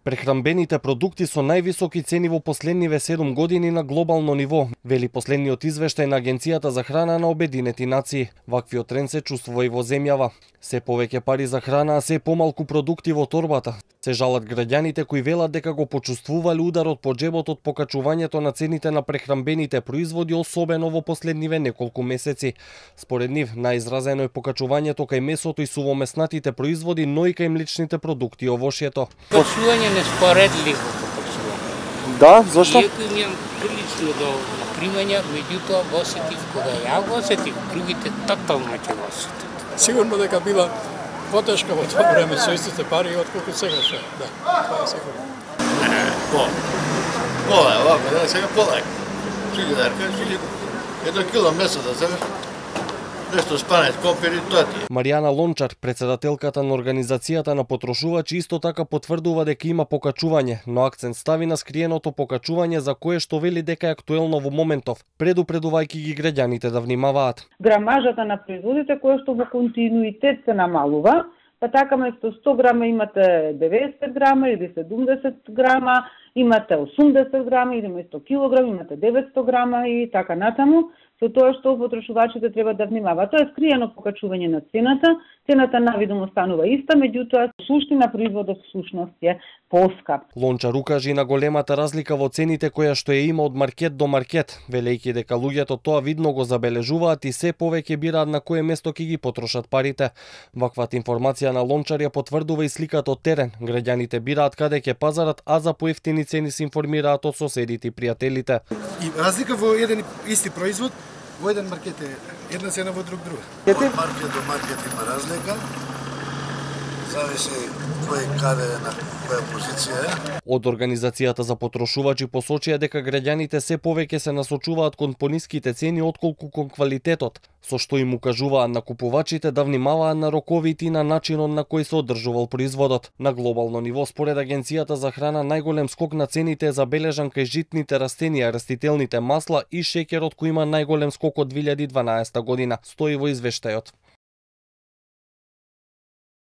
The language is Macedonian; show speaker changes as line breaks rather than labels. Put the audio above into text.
Прехранбените продукти со највисоки цени во последниве 7 години на глобално ниво, вели последниот извештај на Агенцијата за храна на Обединети нации. Ваквиот тренд се чувствува и во земјава. Се повеќе пари за храна, а се помалку продукти во торбата. Се жалат граѓаните кои велат дека го почувствувале ударот по џебот од покачувањето на цените на прехранбените производи, особено во последниве неколку месеци. Според нив, најизразено е покачувањето кај месото и сувомеснатите производи, но и кај млечните продукти и овошјето.
Почување неспоредливо покачување.
Да, зашто?
Иако имам прилично до примања, меѓутоа го осетив кога ја го осетив, другите тотално ќе го осетат.
Сигурно дека била потешка во тоа време со истите пари отколку сега што. Да, тоа е сигурно.
Пола е овако, да сега полека. Шилјадарка, едно кило месо да земеш, нешто спанет, копери, тоа ти е.
Маријана Лончар, председателката на Организацијата на потрошувачи, исто така потврдува дека има покачување, но акцент стави на скриеното покачување за кое што вели дека е актуелно во моментов, предупредувајќи ги граѓаните да внимаваат.
Грамажата на производите која што во континуитет се намалува, па така место 100 грама имате 90 грама или 70 грама, имате 80 грама или место килограм имате 900 грама и така натаму. Со тоа што потрошувачите треба да внимаваат. Тоа е скриено покачување на цената. Цената навидно останува иста, меѓутоа суштина производот всушност е поскап.
Лончар укажи на големата разлика во цените која што ја има од маркет до маркет, велејќи дека луѓето тоа видно го забележуваат и се повеќе бираат на кое место ќе ги потрошат парите. Ваквата информација на Лончар ја потврдува и сликата од терен. Граѓаните бираат каде ќе пазарат, а за поевтини цени се информираат од соседите и пријателите.
И разлика во еден исти производ, во еден маркет е една цена, во друг друга.
Од маркет до маркет има разлика. Зависи кој каде на која позиција е.
Од Организацијата за потрошувачи посочија дека граѓаните се повеќе се насочуваат кон пониските цени отколку кон квалитетот, со што им укажуваат на купувачите да внимаваат на роковите и на начинот на кој се одржувал производот. На глобално ниво, според Агенцијата за храна, најголем скок на цените е забележан кај житните растенија, растителните масла и шеќерот, кој има најголем скок од 2012 година, стои во извештајот.